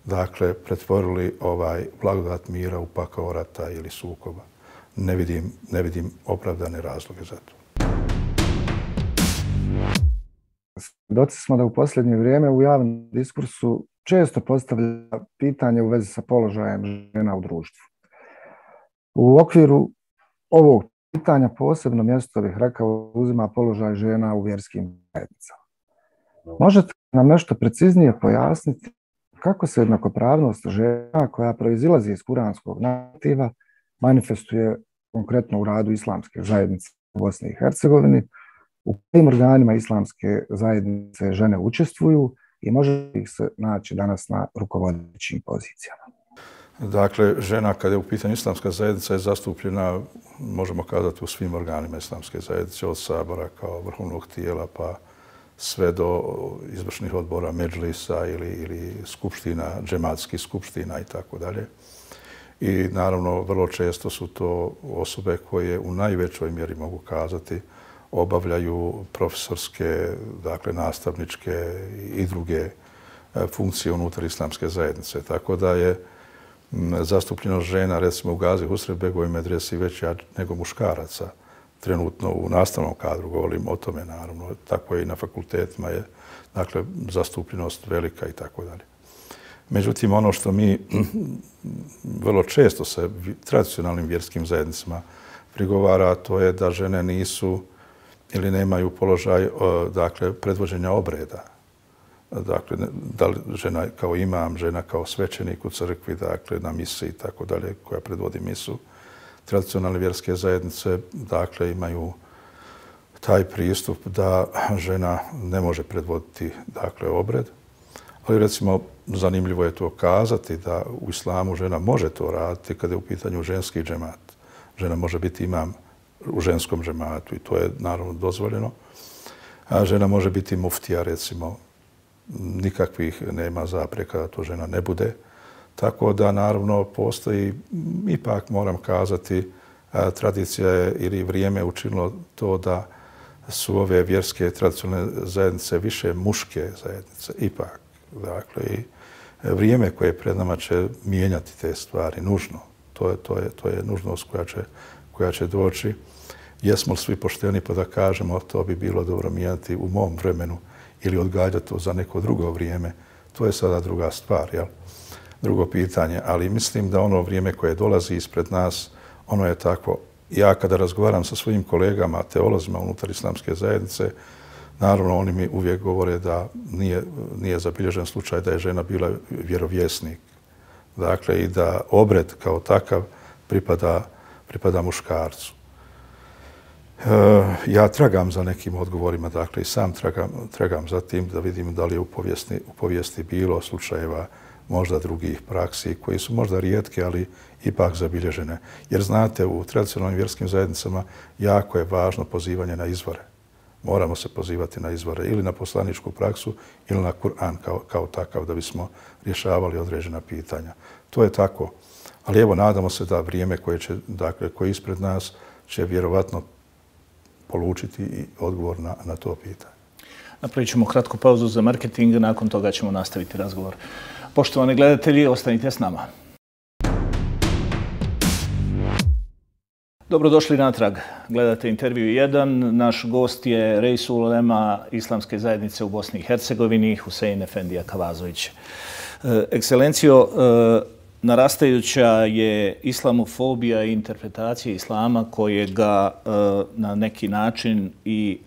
dakle, pretvorili ovaj blagodat mira u pakao rata ili sukoba. Ne vidim, ne vidim opravdane razloge za to. Svjedoci smo da u posljednje vrijeme u javnom diskursu često postavlja pitanje u vezi sa položajem žena u društvu. U okviru ovog pitanja posebno mjesto, bih rekao, uzima položaj žena u vjerskim zajednicama. Možete nam nešto preciznije pojasniti kako se jednakopravnost žena koja proizilazi iz kuranskog narativa manifestuje konkretno u radu islamske zajednice u Bosni i Hercegovini, u kojim organima islamske zajednice žene učestvuju i može ih se naći danas na rukovodećim pozicijama? Dakle, žena kada je u pitanju islamska zajednica je zastupljena, možemo kazati, u svim organima islamske zajednice, od sabora kao vrhovnog tijela pa sve do izvršnih odbora Medžlisa ili, ili skupština, džematskih skupština i tako dalje. I naravno, vrlo često su to osobe koje u najvećoj mjeri mogu kazati obavljaju profesorske, dakle nastavničke i druge funkcije unutar islamske zajednice. Tako da je zastupljenost žena, recimo u Gazi Husrev-begovoj medresi, veća nego muškaraca. Trenutno u nastavnom kadru govorim o tome, naravno. Tako je i na fakultetima je, dakle, zastupljenost velika i tako dalje. Međutim, ono što mi vrlo često se tradicionalnim vjerskim zajednicama prigovara, to je da žene nisu ili nemaju položaj, dakle, predvođenja obreda. Dakle, da li žena kao imam, žena kao svećenik u crkvi, dakle, na misi i tako dalje, koja predvodi misu. Tradicionalne vjerske zajednice, dakle, imaju taj pristup da žena ne može predvoditi, dakle, obred. Ali, recimo, zanimljivo je to kazati da u islamu žena može to raditi kada je u pitanju ženski džemat. Žena može biti imam u ženskom džematu i to je, naravno, dozvoljeno. A žena može biti muftija, recimo, nikakvih nema zapreka da to žena ne bude. Tako da, naravno, postoji, ipak moram kazati, tradicija je ili vrijeme učinilo to da su ove vjerske tradicionalne zajednice više muške zajednice. Ipak, dakle, i vrijeme koje je pred nama će mijenjati te stvari, nužno. To je, to je, to je nužnost koja će, koja će doći. Jesmo li svi pošteni pa da kažemo to bi bilo dobro mijenjati u mom vremenu ili odgađati to za neko drugo vrijeme, to je sada druga stvar, jel? Drugo pitanje, ali mislim da ono vrijeme koje dolazi ispred nas, ono je tako. Ja kada razgovaram sa svojim kolegama, teolozima unutar islamske zajednice, naravno oni mi uvijek govore da nije, nije zabilježen slučaj da je žena bila vjerovjesnik. Dakle, i da obred kao takav pripada, pripada muškarcu. Ja tragam za nekim odgovorima, dakle i sam tragam, tragam za tim da vidim da li je u povijesti, u povijesti bilo slučajeva možda drugih praksi koji su možda rijetke, ali ipak zabilježene. Jer znate, u tradicionalnim vjerskim zajednicama jako je važno pozivanje na izvore. Moramo se pozivati na izvore ili na poslaničku praksu ili na Kur'an kao, kao takav da bismo rješavali određena pitanja. To je tako. Ali evo, nadamo se da vrijeme koje, će, dakle, koje je ispred nas će vjerovatno polučiti i odgovor na, na to pitanje. Napravit ćemo kratku pauzu za marketing, nakon toga ćemo nastaviti razgovor. Poštovani gledatelji, ostanite s nama. Dobrodošli natrag. Gledate intervju jedan. Naš gost je Reisul ulema Islamske zajednice u Bosni i Hercegovini, Husein Efendija Kavazović. Ekscelencijo, narastajuća je islamofobija i interpretacija islama koje ga na neki način i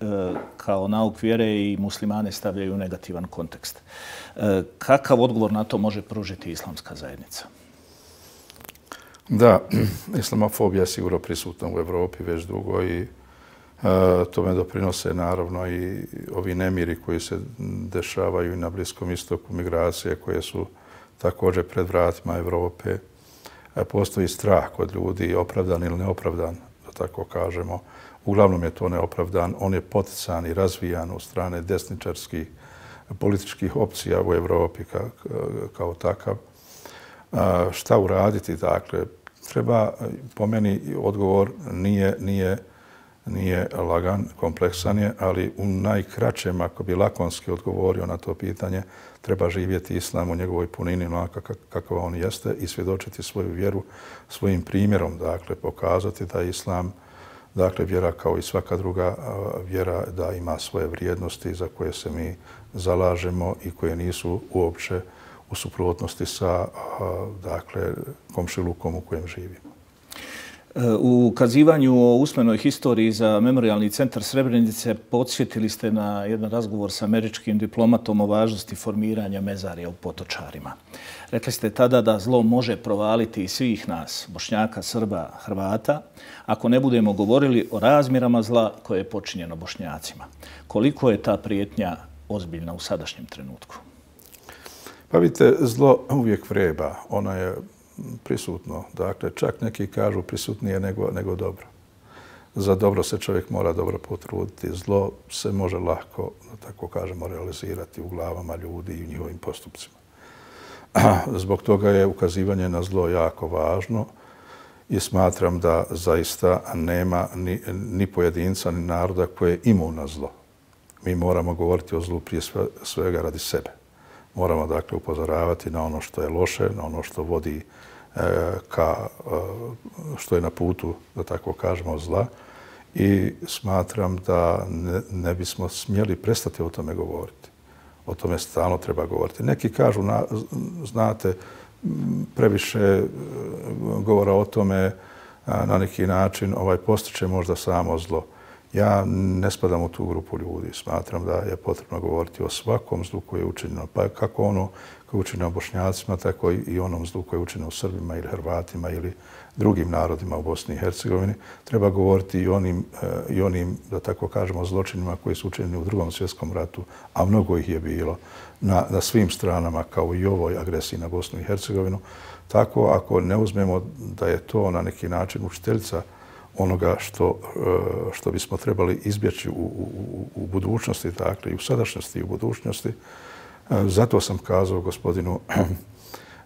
kao nauk vjere i muslimane stavljaju u negativan kontekst. Kakav odgovor na to može pružiti islamska zajednica? Da, islamofobija je sigurno prisutna u Evropi već dugo i e, tome doprinose naravno i ovi nemiri koji se dešavaju i na Bliskom istoku, migracije koje su također pred vratima Evrope. E, postoji strah kod ljudi, opravdan ili neopravdan, da tako kažemo. Uglavnom je to neopravdan. On je potican i razvijan od strane desničarskih političkih opcija u Evropi kao, kao takav. A, šta uraditi? Dakle, treba, po meni, odgovor nije, nije, nije lagan, kompleksan je, ali u najkraćem, ako bi lakonski odgovorio na to pitanje, treba živjeti islam u njegovoj punini, onako kakav on jeste i svjedočiti svoju vjeru svojim primjerom, dakle, pokazati da je islam, dakle, vjera kao i svaka druga vjera, da ima svoje vrijednosti za koje se mi zalažemo i koje nisu uopće u suprotnosti sa, dakle, komšilukom u kojem živimo. U ukazivanju o usmenoj historiji za Memorijalni centar Srebrenice podsjetili ste na jedan razgovor sa američkim diplomatom o važnosti formiranja mezarija u Potočarima. Rekli ste tada da zlo može provaliti i svih nas, Bošnjaka, Srba, Hrvata, ako ne budemo govorili o razmjerama zla koje je počinjeno Bošnjacima. Koliko je ta prijetnja ozbiljna u sadašnjem trenutku? Pa vidite, zlo uvijek vreba. Ona je prisutno. Dakle, čak neki kažu prisutnije nego, nego dobro. za dobro se čovjek mora dobro potruditi. Zlo se može lako, da tako kažemo, realizirati u glavama ljudi i u njihovim postupcima. Zbog toga je ukazivanje na zlo jako važno i smatram da zaista nema ni, ni pojedinca, ni naroda koje je imun na zlo. Mi moramo govoriti o zlu prije svega radi sebe. Moramo dakle upozoravati na ono što je loše, na ono što vodi e, ka, e, što je na putu, da tako kažemo, zla. I smatram da ne, ne bismo smjeli prestati o tome govoriti. O tome stalno treba govoriti. Neki kažu, na, znate, previše govora o tome na neki način ovaj postiče možda samo zlo. Ja ne spadam u tu grupu ljudi. Smatram da je potrebno govoriti o svakom zlu koje je učinjeno. Pa kako ono koje je učinjeno Bošnjacima, tako i onom zlu koje je učinjeno Srbima ili Hrvatima ili drugim narodima u Bosni i Hercegovini. Treba govoriti i onim, i onim, da tako kažemo, zločinima koji su učinjeni u Drugom svjetskom ratu, a mnogo ih je bilo na, na svim stranama, kao i ovoj agresiji na Bosnu i Hercegovinu. Tako, ako ne uzmemo da je to na neki način učiteljica onoga što, što bismo trebali izbjeći u, u, u budućnosti, dakle i u sadašnjosti i u budućnosti, zato sam kazao gospodinu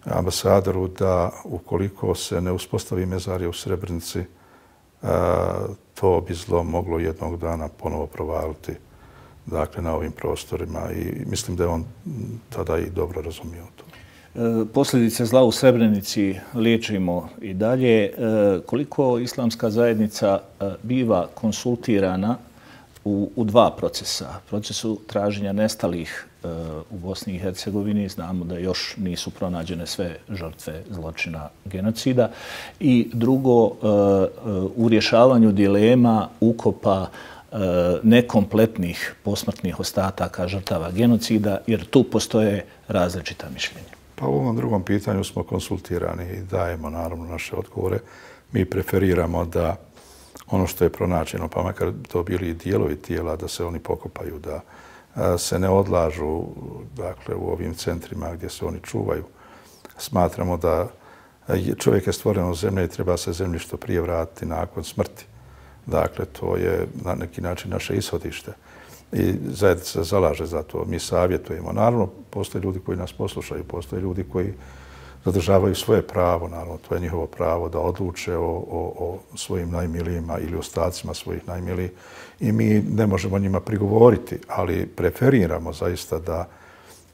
ambasadoru da ukoliko se ne uspostavi mezarija u Srebrenici, to bi zlo moglo jednog dana ponovo provaliti, dakle, na ovim prostorima i mislim da je on tada i dobro razumio to. Posljedice zla u Srebrenici liječimo i dalje. Koliko islamska zajednica biva konsultirana u, u dva procesa? Procesu traženja nestalih u Bosni i Hercegovini, znamo da još nisu pronađene sve žrtve zločina genocida. I drugo, u rješavanju dilema ukopa nekompletnih posmrtnih ostataka žrtava genocida, jer tu postoje različita mišljenja. Pa u ovom drugom pitanju smo konsultirani i dajemo naravno naše odgovore. Mi preferiramo da ono što je pronađeno, pa makar to bili i dijelovi tijela, da se oni pokopaju, da se ne odlažu, dakle, u ovim centrima gdje se oni čuvaju. Smatramo da čovjek je stvoren od zemlje i treba se zemlji što prije vratiti nakon smrti. Dakle, to je na neki način naše ishodište. I zajednica se zalaže za to. Mi savjetujemo. Naravno, postoje ljudi koji nas poslušaju, postoje ljudi koji zadržavaju svoje pravo, naravno, to je njihovo pravo da odluče o, o, o svojim najmilijima ili ostacima svojih najmilijih i mi ne možemo njima prigovoriti, ali preferiramo zaista da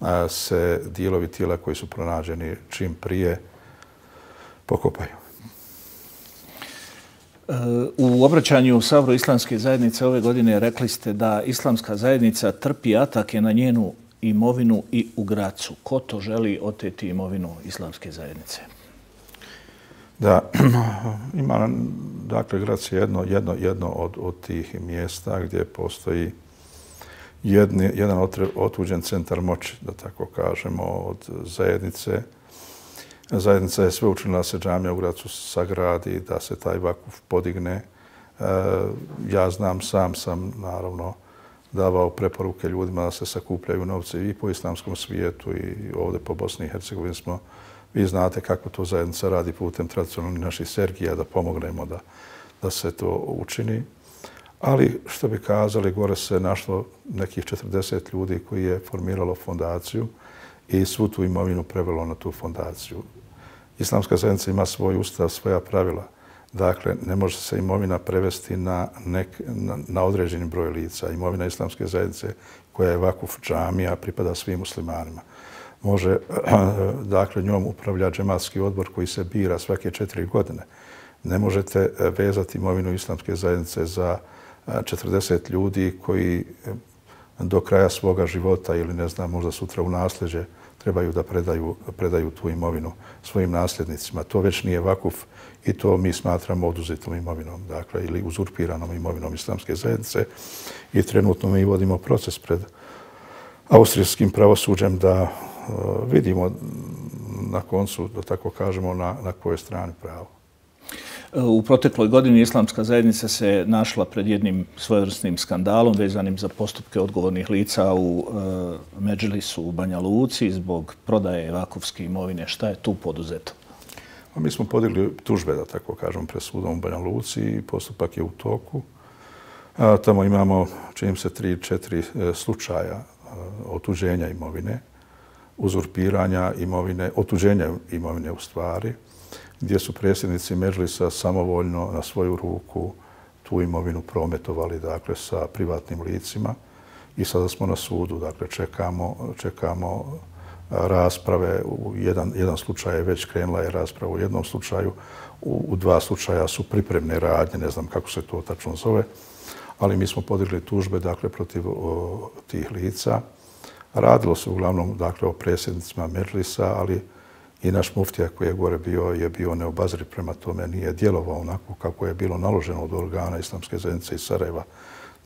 a, se dijelovi tijela koji su pronađeni čim prije pokopaju. U obraćanju u Saboru Islamske zajednice ove godine rekli ste da Islamska zajednica trpi atake na njenu imovinu i u Gracu. Ko to želi oteti imovinu Islamske zajednice? Da, ima, dakle, Grac je jedno, jedno, jedno od, od tih mjesta gdje postoji jedni, jedan otuđen centar moći, da tako kažemo, od zajednice. Zajednica je sve učinila da se džamija u Gracu sagradi, da se taj vakuf podigne. Ja znam, sam sam, naravno, davao preporuke ljudima da se sakupljaju novce i po islamskom svijetu i ovdje po Bosni i Hercegovini smo. Vi znate kako to zajednica radi putem tradicionalnih naših sergija da pomognemo da, da se to učini. Ali, što bi kazali, gore se našlo nekih četrdeset ljudi koji je formiralo fondaciju i svu tu imovinu prevelo na tu fondaciju. Islamska zajednica ima svoj ustav, svoja pravila. Dakle, ne može se imovina prevesti na, nek, na, na određeni broj lica. Imovina Islamske zajednice koja je vakuf džamija pripada svim muslimanima. Može, dakle, njom upravlja džematski odbor koji se bira svake četiri godine. Ne možete vezati imovinu Islamske zajednice za četrdeset ljudi koji do kraja svoga života ili ne znam, možda sutra u nasljeđe trebaju da predaju, predaju tu imovinu svojim nasljednicima. To već nije vakuf i to mi smatramo oduzetom imovinom, dakle, ili uzurpiranom imovinom Islamske zajednice. I trenutno mi vodimo proces pred austrijskim pravosuđem da uh, vidimo na koncu, da tako kažemo, na, na kojoj strani pravo. U protekloj godini Islamska zajednica se našla pred jednim svojevrsnim skandalom vezanim za postupke odgovornih lica u e, Medžlisu u Banja Luci zbog prodaje vakufske imovine. Šta je tu poduzeto? Mi smo podigli tužbe, da tako kažem, pred sudom u Banja Luci i postupak je u toku. Tamo imamo, čini se, tri, četiri slučaja otuđenja imovine, uzurpiranja imovine, otuđenja imovine u stvari, gdje su predsjednici Medžlisa samovoljno na svoju ruku tu imovinu prometovali, dakle, sa privatnim licima. I sada smo na sudu, dakle, čekamo, čekamo rasprave. U jedan, jedan slučaj je već krenula je rasprava u jednom slučaju, u, u dva slučaja su pripremne radnje, ne znam kako se to tačno zove, ali mi smo podigli tužbe, dakle, protiv o, tih lica. Radilo se uglavnom, dakle, o predsjednicima Medžlisa, ali i naš muftija koji je gore bio je bio neobazriv prema tome, nije djelovao onako kako je bilo naloženo od organa Islamske zajednice iz Sarajeva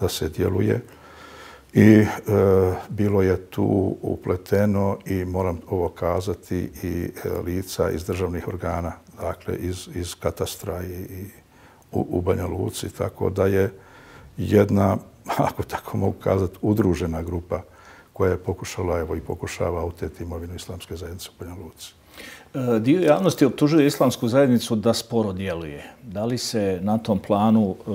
da se djeluje. I e, bilo je tu upleteno i moram ovo kazati i e, lica iz državnih organa, dakle iz, iz katastra i, i u, u Banja Luci, tako da je jedna, ako tako mogu kazati, udružena grupa koja je pokušala, evo i pokušava oteti imovinu Islamske zajednice u Banja Luci. Dio javnosti optužuje Islamsku zajednicu da sporo djeluje. Da li se na tom planu e,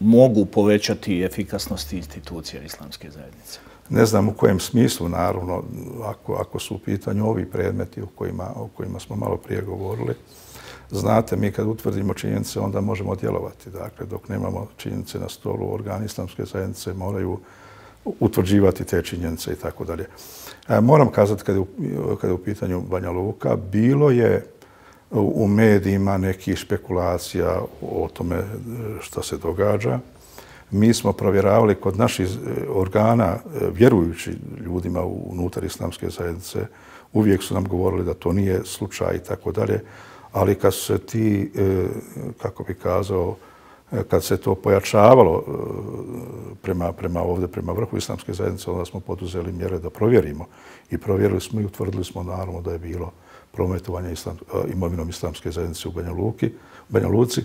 mogu povećati efikasnosti institucija Islamske zajednice? Ne znam u kojem smislu, naravno, ako, ako su u pitanju ovi predmeti o kojima, o kojima smo malo prije govorili. Znate, mi kad utvrdimo činjenice, onda možemo djelovati. Dakle, dok nemamo činjenice na stolu, organi Islamske zajednice moraju utvrđivati te činjenice i tako dalje. Moram kazati, kad je, u, kad je u pitanju Banja Luka, bilo je u medijima nekih špekulacija o tome što se događa. Mi smo provjeravali kod naših organa, vjerujući ljudima unutar Islamske zajednice, uvijek su nam govorili da to nije slučaj i tako dalje, ali kad su se ti, kako bi kazao, kad se to pojačavalo prema, prema ovdje, prema vrhu Islamske zajednice, onda smo poduzeli mjere da provjerimo. I provjerili smo i utvrdili smo naravno da je bilo prometovanje islam, imovinom Islamske zajednice u Banja, Luki, Banja Luci.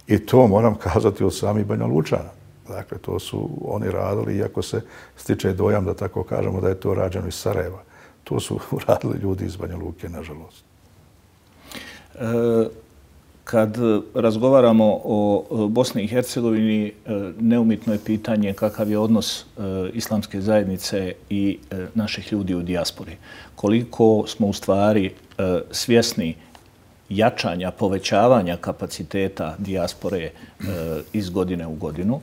I to moram kazati od samih Banja Lučana. Dakle, to su oni radili, iako se stiče dojam, da tako kažemo, da je to rađeno iz Sarajeva. To su radili ljudi iz Banja Luke, nažalost. E, kad razgovaramo o Bosni i Hercegovini, neumitno je pitanje kakav je odnos Islamske zajednice i naših ljudi u dijaspori. Koliko smo u stvari svjesni jačanja, povećavanja kapaciteta dijaspore iz godine u godinu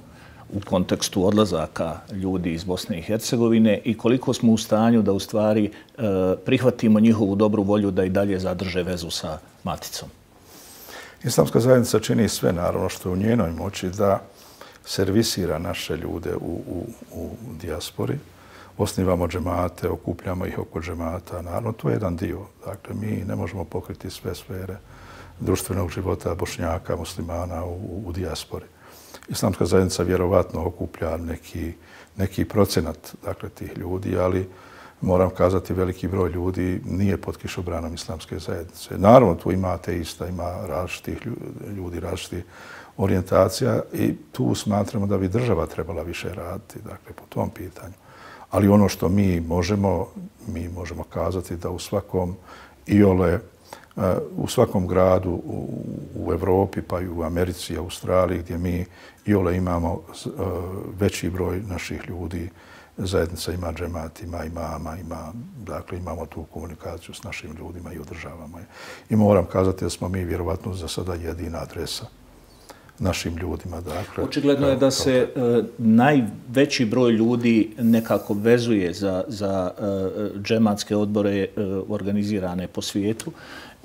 u kontekstu odlazaka ljudi iz Bosne i Hercegovine i koliko smo u stanju da u stvari prihvatimo njihovu dobru volju da i dalje zadrže vezu sa maticom. Islamska zajednica čini sve, naravno, što je u njenoj moći da servisira naše ljude u, u, u dijaspori. Osnivamo džemate, okupljamo ih oko džemata. Naravno, to je jedan dio. Dakle, mi ne možemo pokriti sve sfere društvenog života Bošnjaka, muslimana u, u dijaspori. Islamska zajednica vjerovatno okuplja neki, neki procenat, dakle, tih ljudi, ali moram kazati, veliki broj ljudi nije pod kišobranom Islamske zajednice. Naravno, tu ima ateista, ima različitih ljudi, različitih orijentacija i tu smatramo da bi država trebala više raditi, dakle, po tom pitanju. Ali ono što mi možemo, mi možemo kazati da u svakom iole, u svakom gradu u, u Evropi, pa i u Americi, Australiji, gdje mi iole imamo veći broj naših ljudi, zajednica ima džemat, ima imama, ima, dakle, imamo tu komunikaciju s našim ljudima i održavamo je. I moram kazati da smo mi vjerovatno za sada jedina adresa našim ljudima. Dakle, očigledno je da se uh, najveći broj ljudi nekako vezuje za, za uh, džematske odbore uh, organizirane po svijetu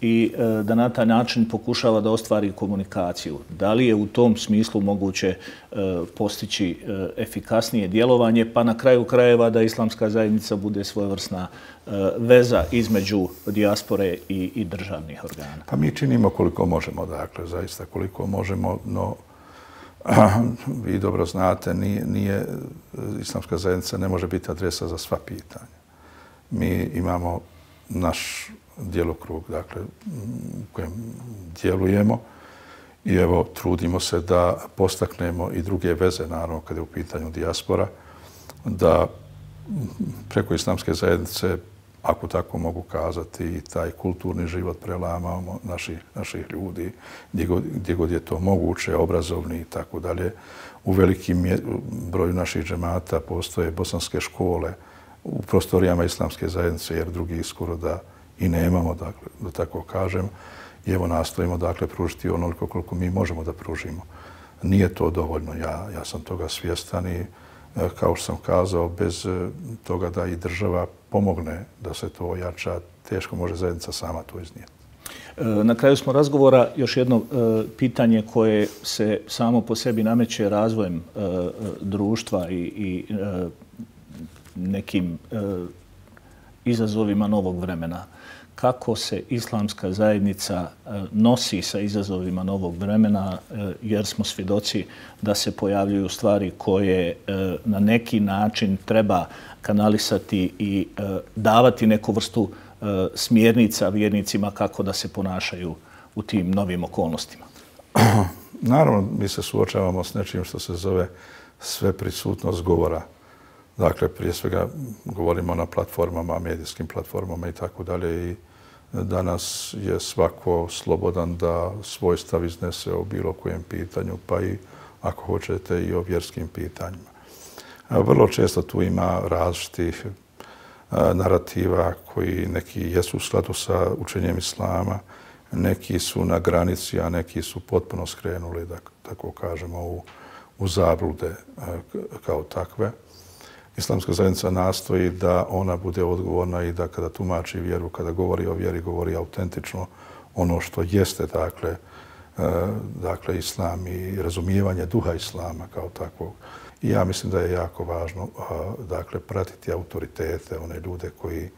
i uh, da na taj način pokušava da ostvari komunikaciju. Da li je u tom smislu moguće uh, postići uh, efikasnije djelovanje, pa na kraju krajeva da Islamska zajednica bude svojevrsna uh, veza između dijaspore i, i državnih organa? Pa mi činimo koliko možemo, dakle, zaista koliko možemo, no vi dobro znate, nije, nije, Islamska zajednica ne može biti adresa za sva pitanja. Mi imamo naš djelokrug, dakle, u kojem djelujemo i evo, trudimo se da postaknemo i druge veze, naravno, kada je u pitanju dijaspora, da preko Islamske zajednice ako tako mogu kazati, i taj kulturni život prelamamo naših, naših ljudi, gdje god, gdje god je to moguće, obrazovni i tako dalje. U velikim broju naših džemata postoje bosanske škole u prostorijama islamske zajednice, jer drugi skoro da i nemamo, dakle, da tako kažem. I evo nastojimo, dakle, pružiti onoliko koliko mi možemo da pružimo. Nije to dovoljno, ja, ja sam toga svjestan i kao što sam kazao, bez toga da i država pomogne da se to ojača, teško može zajednica sama to iznijeti. Na kraju smo razgovora još jedno pitanje koje se samo po sebi nameće razvojem društva i, i nekim izazovima novog vremena. Kako se islamska zajednica nosi sa izazovima novog vremena, jer smo svjedoci da se pojavljuju stvari koje na neki način treba kanalisati i davati neku vrstu smjernica vjernicima kako da se ponašaju u tim novim okolnostima. Naravno, mi se suočavamo s nečim što se zove sveprisutnost govora. Dakle, prije svega govorimo na platformama, medijskim platformama i tako dalje. I danas je svako slobodan da svoj stav iznese o bilo kojem pitanju, pa i, ako hoćete, i o vjerskim pitanjima. Vrlo često tu ima različitih narativa koji neki jesu u skladu sa učenjem islama, neki su na granici, a neki su potpuno skrenuli, da tako kažemo, u, u zablude kao takve. Islamska zajednica nastoji da ona bude odgovorna i da kada tumači vjeru, kada govori o vjeri, govori autentično ono što jeste, dakle, dakle islam i razumijevanje duha islama kao takvog. I ja mislim da je jako važno, dakle, pratiti autoritete, one ljude koji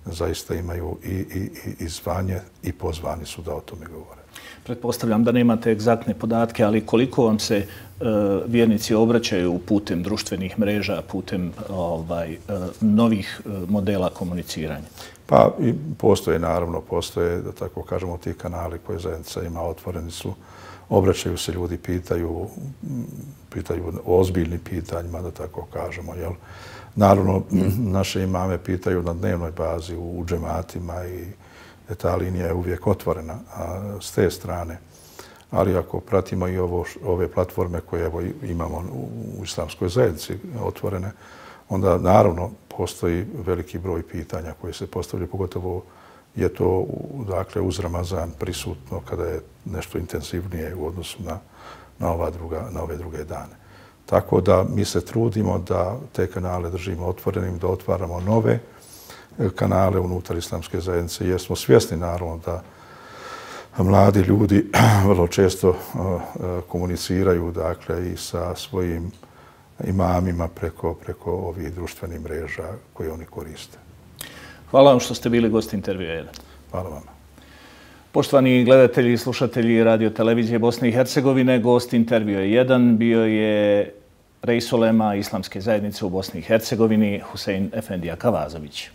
zaista imaju i, i, i zvanje i pozvani su da o tome govore. Pretpostavljam da nemate egzaktne podatke, ali koliko vam se uh, vjernici obraćaju putem društvenih mreža, putem ovaj, uh, novih uh, modela komuniciranja? Pa i postoje, naravno, postoje, da tako kažemo, ti kanali koje zajednica ima, otvoreni su, obraćaju se ljudi, pitaju, pitaju o ozbiljnim pitanjima, da tako kažemo, jel? Naravno, naše imame pitaju na dnevnoj bazi u, u džematima i ta linija je uvijek otvorena a, s te strane. Ali ako pratimo i ovo, ove platforme koje evo, imamo u, u islamskoj zajednici otvorene, onda naravno postoji veliki broj pitanja koje se postavljaju, pogotovo je to dakle, uz Ramazan prisutno kada je nešto intenzivnije u odnosu na, na, ova druga, na ove druge dane. Tako da mi se trudimo da te kanale držimo otvorenim, da otvaramo nove kanale unutar islamske zajednice, jer smo svjesni naravno da mladi ljudi vrlo često komuniciraju dakle, i sa svojim imamima preko, preko ovih društvenih mreža koje oni koriste. Hvala vam što ste bili gost intervjua jedan. Hvala vam. Poštovani gledatelji i slušatelji Radio Televizije Bosne i Hercegovine, gost intervjua jedan bio je Reis ulema Islamske zajednice u Bosni i Hercegovini Husein Efendija Kavazović.